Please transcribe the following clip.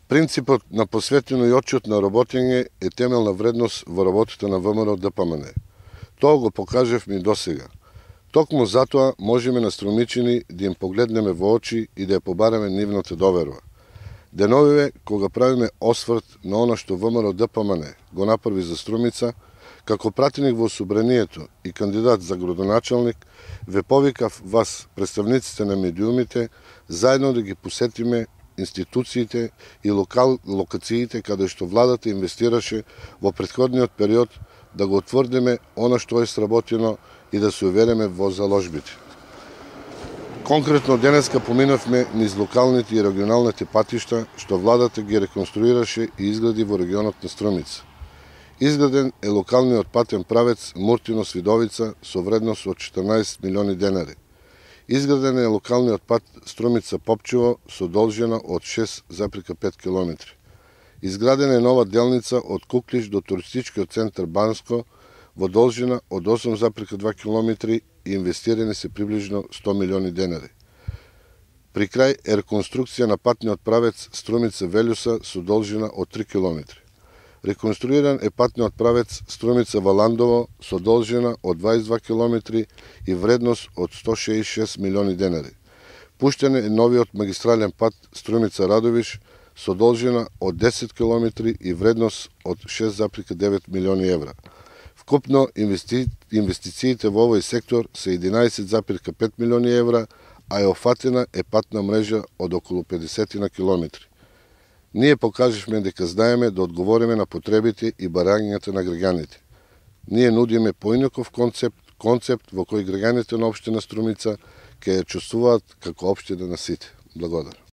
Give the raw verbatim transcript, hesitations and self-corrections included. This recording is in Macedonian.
Принципот на посветено и отчетно работење е темелна вредност во работата на ВМРО-ДПМН. Тоа го покажавме и досега. Токму затоа можеме на Струмичани да им погледнеме во очи и да ја побараме нивната доверба. Деновиве, кога правиме осврт на она што ВМРО-ДПМН го направи за Струмица, како пратеник во Собранието и кандидат за градоначалник, ве повикав вас, представниците на медиумите, заедно да ги посетиме институциите и локал, локациите каде што владата инвестираше во претходниот период, да го утврдиме она што е сработено и да се увериме во заложбите. Конкретно денеска поминавме низ локалните и регионалните патишта што владата ги реконструираше и изгради во регионот на Струмица. Изграден е локалниот патен правец Муртино-Свидовица со вредност од четрнаесет милиони денари. Изграден е локалниот пат Струмица-Попчево со должина од шест запирка пет километри. Изградена е нова делница од Куклиш до туристичкиот центар Банско во должина од осум запирка два километри и инвестирани се приближно сто милиони денари. При крај е реконструкција на патниот правец Струмица-Велјуса со должина од три километри. Реконструиран е патниот правец Струмица-Валандово со должина од дваесет и два километри и вредност од сто шеесет и шест милиони денари. Пуштен е новиот магистрален пат Струмица-Радовиш со должина од десет километри и вредност од шест запирка девет милиони евра. Вкупно инвести... инвестициите во овој сектор се единаесет запирка пет милиони евра, а е офатена е патна мрежа од околу педесет километри. Ние покажавме дека знаеме да одговориме на потребите и барањата на граѓаните. Ние нудиме поинаков концепт, концепт во кој граѓаните на општина Струмица ќе ја чувствуваат како општина на сите. Благодарам.